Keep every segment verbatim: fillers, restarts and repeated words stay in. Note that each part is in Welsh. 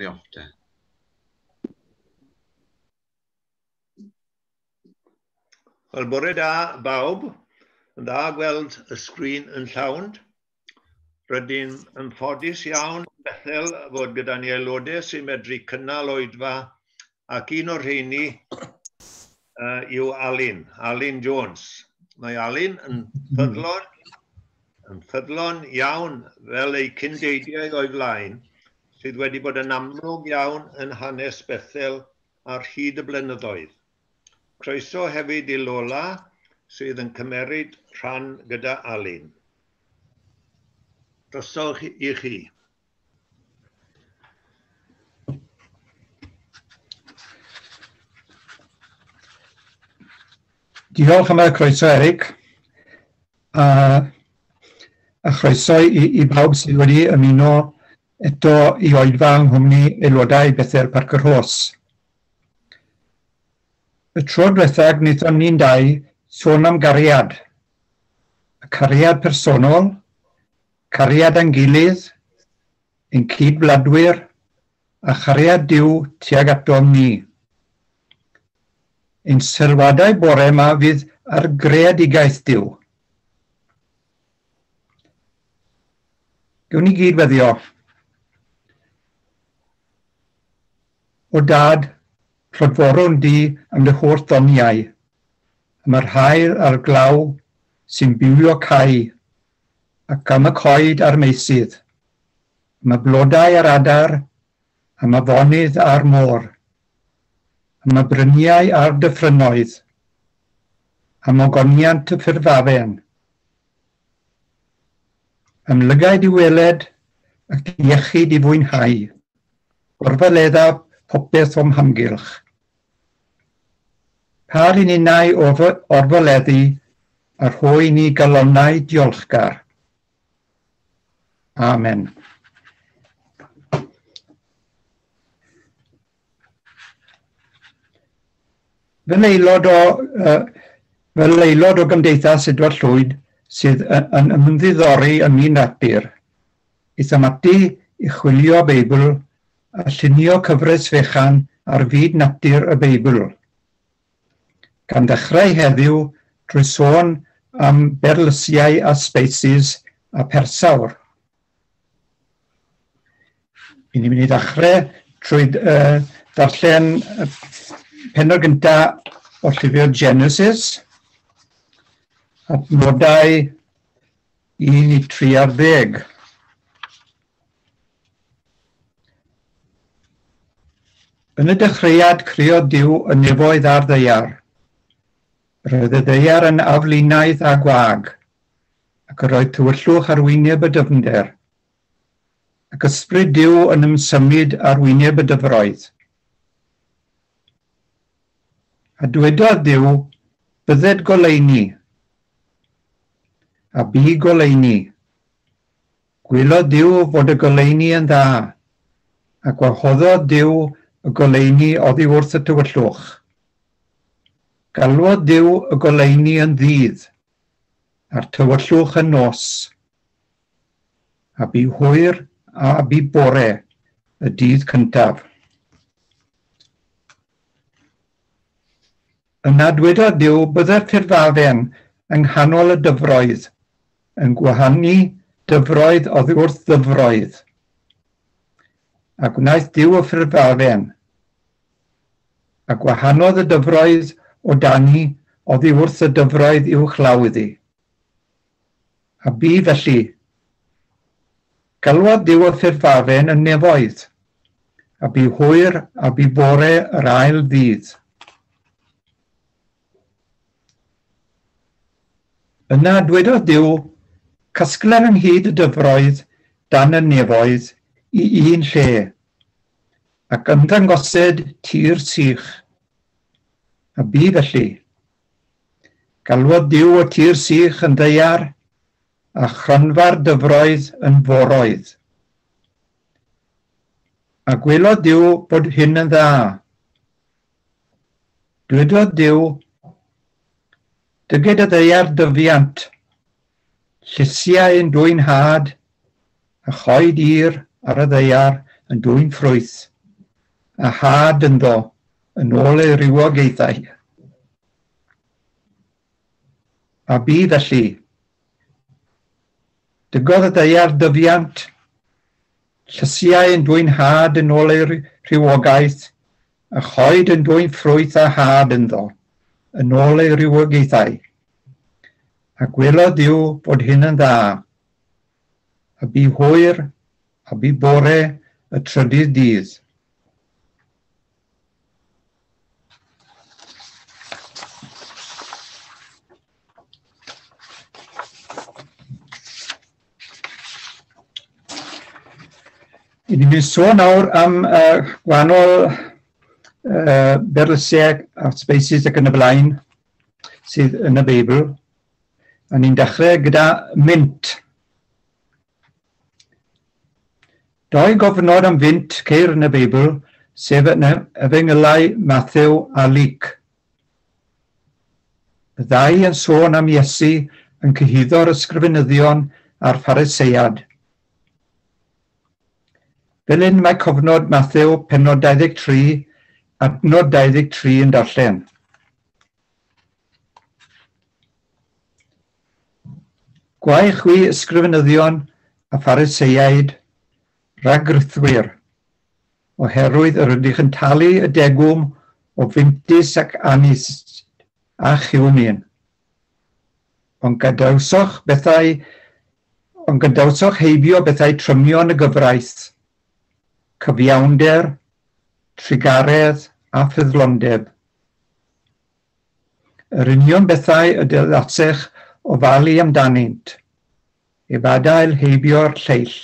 Off te. Wel, bore da bawb. Yn dda gweld y sgrin yn llawn. Rydyn yn ffodus iawn Bethel fod gyda ni aelodau sy'n medru cynnal oedfa, ac un o'r rheini uh, yw Alun, Alun Jones. Mae Alun yn ffyddlon, yn ffyddlon iawn fel ei cyndeidiau o'i flaen, sydd wedi bod yn amlwg iawn yn hanes Bethel ar hyd y blynyddoedd. Croeso hefyd i Lola, sydd yn cymeryd rhan gyda Alun. Drosodd i chi. Diolch am y croeso, Eric, a, a chroeso i, i bawb sydd wedi ymuno eto i oedfa yng nghwmni aelodau Bethel Parc yr Rhos. Y tro diwethaf wnaethon ni'n dau sôn am gariad, y cariad personol, cariad â'n gilydd, ein cydwladwyr, a chariad Duw tuag atom ni. Ein sylwadau bore yma fydd ar greadigaeth Duw. Gewn ni gyd weddio. O Dad, clodforwn di am dy holl ddoniau, am yr haul a'r glaw sy'n bywio cae, ac am y coed a'r meysydd, am y blodau a'r adar, am y afonydd a'r môr, am y bryniau a'r dyffrynnoedd, am ogoniant y ffurfafen, am lygaid i weled ac iechyd i fwynhau, gorfaledda popeth o'm hamgylch. Par i ninnau orfoleddu a rhoi ni galonnau diolchgar. Amen. Fel aelod o, uh, fel aelod o Gymdeithas Edward Llwyd sydd yn ymddiddori ym myd natur, aethom ati i chwilio Beibl a llunio cyfres fechan ar fyd natur y Beibl. Gan ddechrau heddiw drwy sôn am berlysiau a species a persawr. Ni'n mynd i ddechrau trwy uh, darllen pennod gyntaf o llyfr Genesis, adnodau un i tri ar ddeg. Yn y dechreuad creodd Duw y nefoedd a'r ddaear. Roedd y ddaear yn aflinaidd a gwag, ac yr oedd tywyllwch ar wyneb y dyfnder, ac ysbryd Duw yn ymsymud ar wyneb y dyfroedd. A dwedodd Duw, bydded goleuni, a bu goleuni. Gwelodd Duw fod y goleuni yn dda, a gwahoddodd Duw y goleuni oddi wrth y tywyllwch. Galwodd Duw y goleuni yn ddydd, a'r tywyllwch yn nos. A bu hwyr a bu bore y dydd cyntaf. Yna dwedodd Duw, byddai'r ffurfafen yng nghanol y dyfroedd, yn gwahanu dyfroedd oddi wrth ddyfroedd. A gwnaeth Duw y ffurfafen, a gwahanodd y dyfroedd o dani oddi wrth y dyfroedd uwchlaw iddi. A bu felly, galwodd Duw y ffurfafen yn nefoedd, a bu hwyr a bu bore yr ail ddydd. Yna dwedodd Duw, casgler ynghyd y dyfroedd dan y nefoedd i un lle, ac ymddangosed tir sych. A bu felly. Galwodd Duw y tir sych yn ddaear, a chronfa'r dyfroedd yn foroedd. A gwelodd Duw bod hyn yn dda. Dwedodd Duw, dyged y ddaear dyfiant, llysiau yn dwyn had, a choed ir ar y ddaear yn dwyn ffrwyth, a had ynddo yn ôl ei rywogaethau. A bu felly. Dygodd y ddaear dyfiant, llysiau yn dwyn had yn ôl ei rhywogaeth, a choed yn dwyn ffrwyth a had ynddo, yn ôl ei rywogaethau. A gwelodd Duw bod hyn yn dda, a bu hwyr, a bu bore y trydydd dydd. I ni'n mynd sôn nawr am uh, gwahanol uh, berlysiau a species ac yn y blaen sydd yn y Beibl. A ni'n dechrau gyda mint. Doi gofnod am fynt ceir yn y Beibl, sef yn Efengylau Mathew a Luc. Y ddau yn sôn am Iesu yn cyhuddo'r ysgrifenyddion a'r Phariseiad. Fel hyn mae cofnod Mathew pennod dau ddeg tri, adnod dau ddeg tri yn darllen. Gwae chwi ysgrifenyddion a Phariseiaid, rhagrithwyr, oherwydd yr ydych yn talu y degwm o fintys ac anis a chiwmin. Ond gadawsoch bethau, ond gadawsoch heibio bethau trymion y gyfraith, cyfiawnder, trugaredd a ffyddlondeb. Yr union bethau y dylasech ofalu amdanynt, heb adael heibio'r lleill.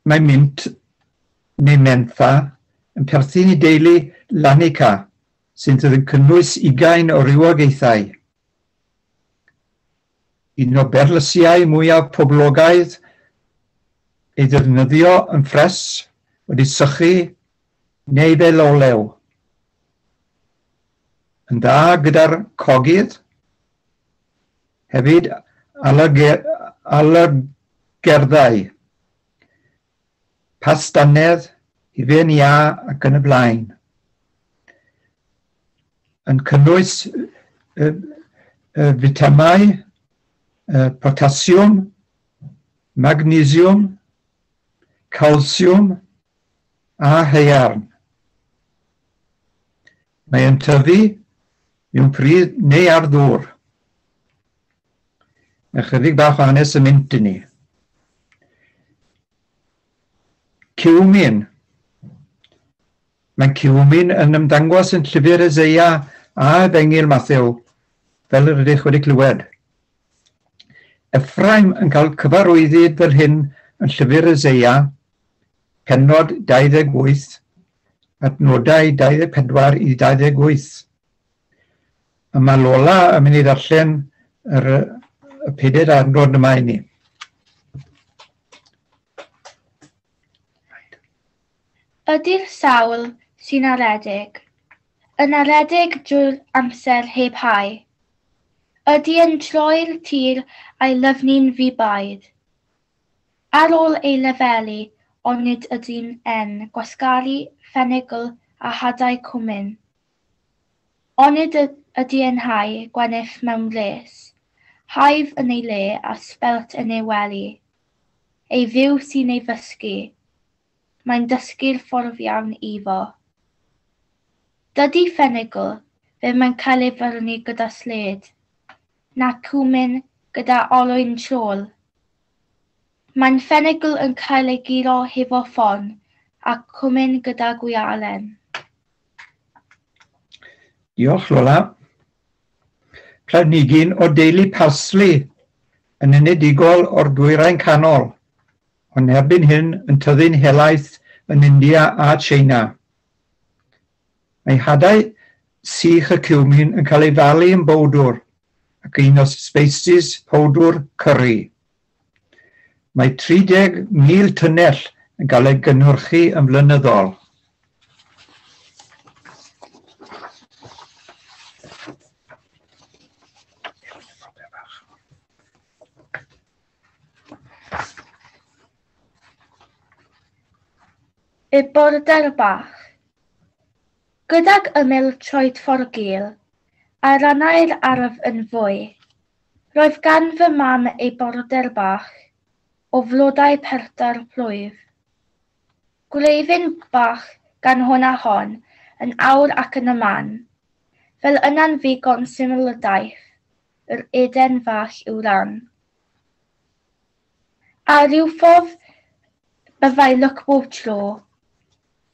Mae mint neu mentha yn perthyn i deulu Lanica, sy'n yn cynnwys ugain o rywogaethau. Un o berlysiau mwyaf poblogaidd ei ddefnyddio yn ffres, wedi sychu neu fel olew. Yn dda gyda'r cogydd, hefyd alergeddau, pastanedd, hufen iâ ac yn y blaen. Yn cynnwys y, y fitamau, potasiwm, magnesiwm, calsiwm a haearn. Mae yn tyfu mewn pridd neu ar ddŵr. Mae chydig bach o hanes y mint i ni. Ciwmin. Mae ciwmin yn ymddangos yn llyfr Eseia a Efengyl Mathew, fel yr ydych wedi clywed. Ephraim yn cael cyfarwyddyd fel hyn yn llyfr Eseia, pennod dau ddeg wyth, adnodau dau ddeg pedwar i dau ddeg wyth. A mae Lola yn mynd i ddarllen yr, y pedair adnod yma i ni. Ydy'r sawl sy'n aredig, yn aredig drwy'r amser heb hau? Ydy yn troi'r tir a'i lyfnu'n ddi-baid? Ar ôl ei lefelu, onid ydy'n en gwasgaru ffenigl a hadau cwmin? Onid ydy yn hau gwenith mewn res, haif yn ei le a sbelt yn ei wely? Ei fyw sy'n ei ddysgu, mae'n dysgu'r ffordd iawn iddo. Dydy ffenigl ddim yn cael ei fyrnu gyda sled, na cwmin gyda olwyn trol. Mae'n ffenigl yn cael ei guro hefo ffon a cwmin gyda gwialen. Diolch, Lola. Planhigyn o deulu parsley yn enedigol o'r dwyrain canol, ond erbyn hyn yn tyfu'n helaeth yn India a China. Mae hadau sych y ciwmin yn cael ei falu yn bowdwr ac un o species powdwr curry. Mae tri deg mil tunnell yn cael ei gynhyrchu yn flynyddol. Y border bach. Gydag ymyl troedffordd gul, a rannau'r ardd yn fwy, roedd gan fy mam ei border bach o flodau perda'r plwyf. Gwreiddyn bach gan hwn a hon, yn awr ac yn y man, fel yna'n ddigon syml y daith, yr Eden fach i'w ran. A rhyw ffordd byddai lwc bob tro,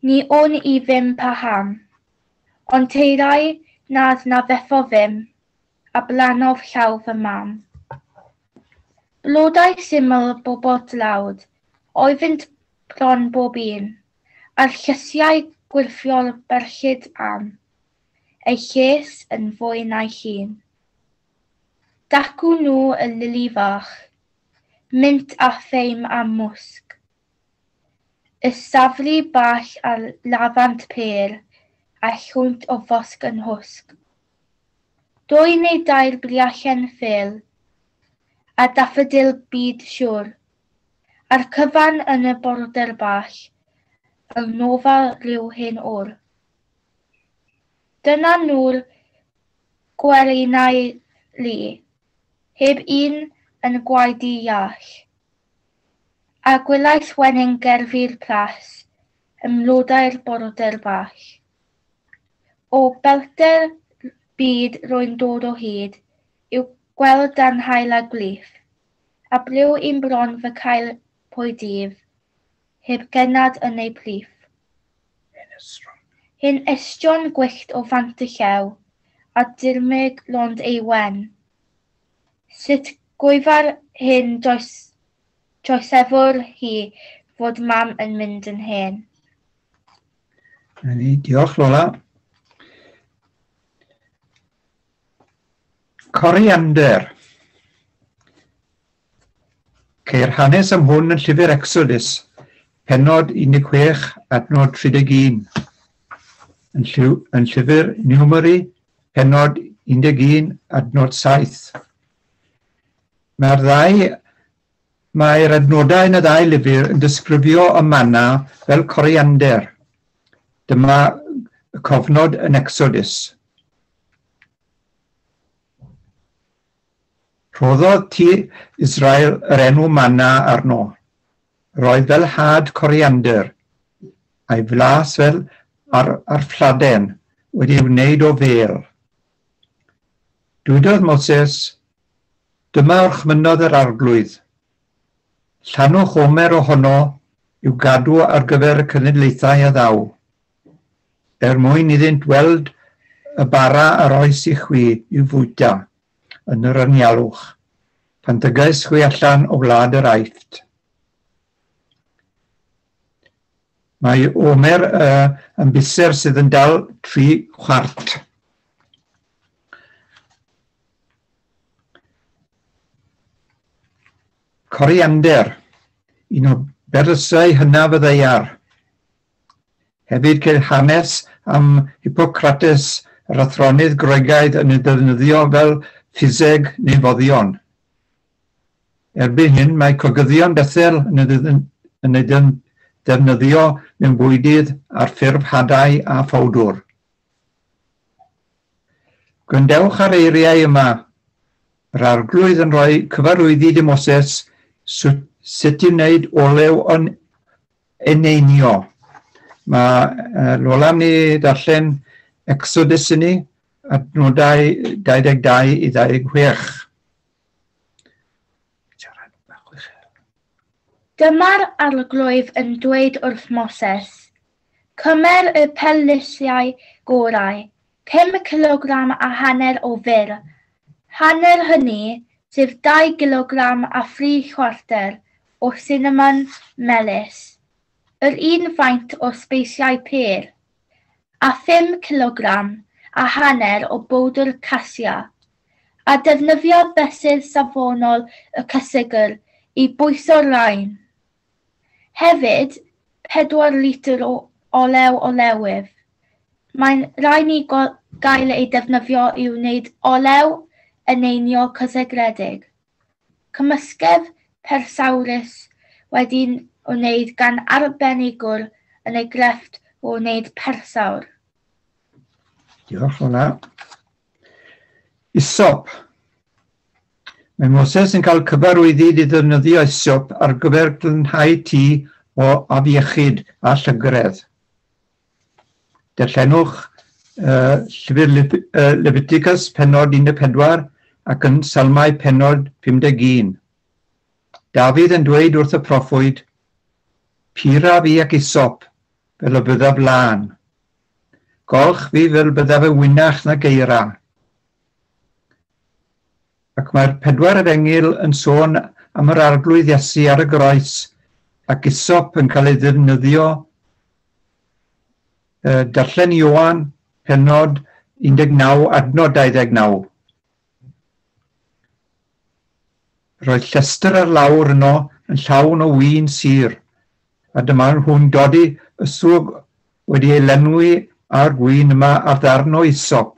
ni wn i ddim paham, ond teirai nad na fetho ddim, a blannodd llaw fy mam. Blodau syml bobl dlawd, oeddynt bron bob un, a'r llysiau gwyrthiol berllyd am, ei lles yn fwy na'i hun. Dacw nhw y lili fach, mint a theim a mwsg. Y safri bach a lafant pêr, a llwynt o fosg yn hwsg. Dwy neu dair briallen ffêl, a daffodil byd siŵr, a'r cyfan yn y border bach, fel nofa rhyw hen o'r. Dyna nhw'r gwerinau lu, heb un yn gwaedu iach. A gwelais wenyn gerddi'r plas, ym mlodau'r border bach. O bellter byd rwy'n dod o hyd, i'w gweld dan haul a gwlith, a briw i'm bron fy cael pwy dydd, heb gennad yn ei plith. Hen estron gwyllt o fant y llew, a dirmyg lond ei wen. Sut gwyfar hyn droesefwr hi fod mam yn mynd yn hen. Na ni, diolch Lola. Coriander. Ceir hanes am hwn yn llyfr Exodus, pennod un deg chwech, adnod tri deg un. Yn, llyw, yn llyfr Numeri, pennod un deg un, adnod saith. Mae'r ddau, mae'r adnodau yn y ddau lyfr yn disgrifio y manna fel coriander. Dyma y cofnod yn Exodus. Rhoddodd tŷ Israel yr enw manna arno. Roedd fel had coriander, a'i flas fel ar, ar ffladen wedi'i wneud o fêl. Dwedodd Moses, dyma orchmynnodd yr arglwydd. Llanwch omer ohono i'w gadw ar gyfer y cenedlaethau a ddaw, er mwyn iddynt weld y bara a roes i chwi i'w fwyta yn yr anialwch, pan dygais chwi allan o wlad yr Aifft. Mae omer uh, yn biser sydd yn dal tri chwart. Coriander, un o berlysau hynaf y ddaear. Hefyd ceir hanes am Hippocrates, yr athronydd Groegaidd yn ei ddefnyddio fel ffiseg neu foddion. Erbyn hyn, mae cogyddion Bethel yn ei defnyddio mewn bwydydd ar ffurf hadau a phowdwr. Gwrandewch ar eiriau yma. Yr arglwydd yn rhoi cyfarwyddyd i Moses sut i wneud olew o'n eneinio. Mae Lola ni darllen Exodus i ni, adnodau dau ddeg dau i ddau ddeg chwech. Dyma'r arglwydd yn dweud wrth Moses, cymer y perlysiau gorau, pum cilogram a hanner o fyr, hanner hynny, sef dau gilogram a thri chwarter o sinamon melys, yr un faint o sbeisiau pêr, a phum cilogram a hanner o bowdr casia, a defnyddio fesur safonol y cysegr i bwyso'r rhain. Hefyd, pedwar litr o olew olewydd. Mae'n rhaid i gael ei defnyddio i wneud olew eneinio cysegredig. Cymysgedd persawrus wedi'i wneud gan arbenigwr yn ei grefft o wneud persawr. Diolch, Lola. Isop. Mae Moses yn cael cyfarwyddyd i ddefnyddio isop ar gyfer glanhau tŷ o afiechyd a llygredd. Darllenwch uh, llyfr uh, Leviticus pennod un deg pedwar ac yn Salmau pennod pum deg un. Dafydd yn dweud wrth y proffwyd, "Pura fi ac isop, fel y byddaf lân. Golch fi fel byddaf y wynach na geira." Ac mae'r pedwar efengyl yn sôn am yr arglwydd Iesu ar y groes ac isop yn cael ei ddefnyddio. Darllen Ioan, pennod un deg naw, adnod dau ddeg naw. Roedd llestr ar lawr yno yn llawn o win sur, a dyma nhw'n dodi yswg wedi ei lenwi â'r gwin yma ar ddarn o isop,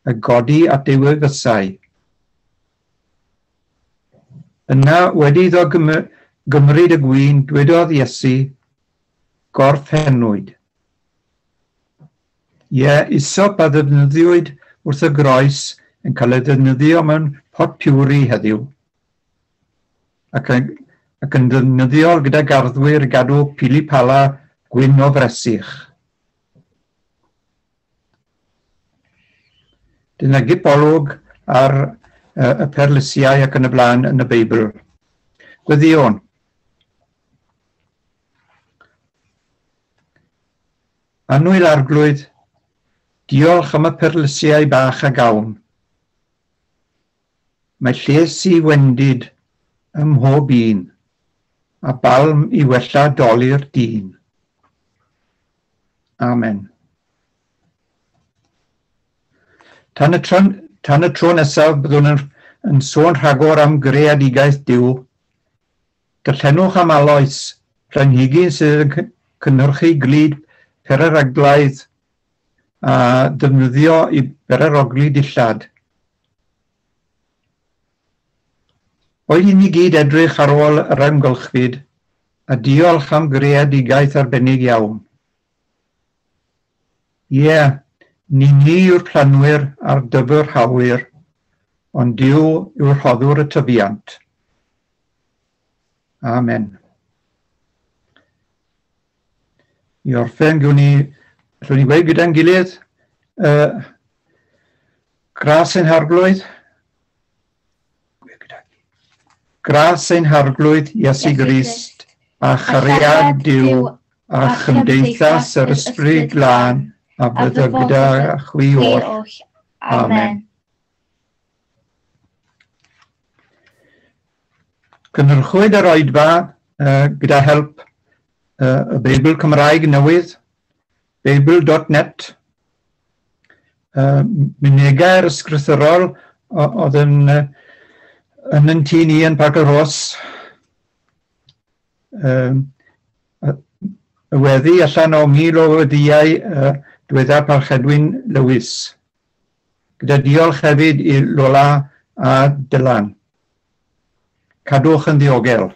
a godi at ei wefusau. Yna, wedi iddo gymryd y gwin, dwedodd Iesu, "Gorffennwyd." Ie, isop a ddefnyddiwyd wrth y groes yn cael ei ddefnyddio mewn pot piwri heddiw, ac yn, ac yn ddefnyddiol gyda garddwyr i gadw pili pala gwyn o fresych. Dyna gip olwg ar uh, y perlysiau ac yn y blaen yn y Beibl. Gweddïwn. Annwyl Arglwydd, diolch am y perlysiau bach a gawn. Mae lles i wendid ym mhob un, a balm i wella dolur dyn. Amen. Tan y tro, tan y tro nesaf byddwn yn, yn sôn rhagor am greadigaeth Duw. Darllenwch am aloes, planhigyn sydd yn cynhyrchu glud pereraglaidd a defnyddio i bererogli dillad. Oedd i ni gyd edrych ar ôl yr amgylchfyd a diolch am greadigaeth arbennig iawn. Ie, yeah, ni ni yw'r planwyr a'r dyfrhawyr, ond Duw yw'r rhoddwr y tyfiant. Amen. I orffen, gwn ni, allwn ni gweud gyda'n gilydd, uh, gras ein harglwydd, gras ein harglwydd Iesu Grist, a chariad Duw, a chymdeithas yr Ysbryd Glân, a byddo gyda chwi oll. Amen. Cynhyrchwyd yr oedfa uh, gyda help uh, y Beibl Cymraeg newydd, beibl dot net, uh, mynegau'r ysgrythurol oedd yn, uh, yn yn tŷ ni yn Parc y Rhos, uh, y weddi allan o mil o weddïau uh, diweddar Parchedwyn Lewis. Gyda diolch hefyd i Lola a Dylan. Cadwch yn ddiogel.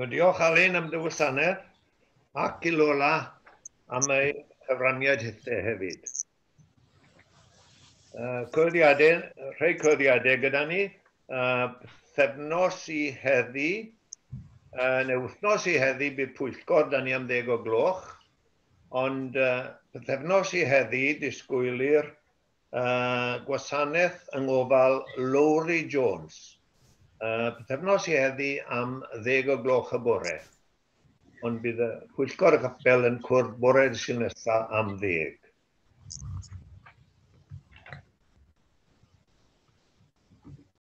Diolch Alun am dy wasanaeth ac i Lola am ei chyfraniad hithe hefyd. Uh, Cyhoeddiadau, rhai cyhoeddiadau gyda ni, uh, pythefnos i heddi, uh, neu wythnos i heddi bydd pwyllgor da ni am ddeg o gloch, ond uh, pythefnos i heddi disgwylir uh, gwasanaeth yng ngofal Lowri Jones. Uh, pythefnos i heddi am ddeg o gloch y bore, ond bydd y pwyllgor y capel yn cwrdd bore Sul nesaf am ddeg.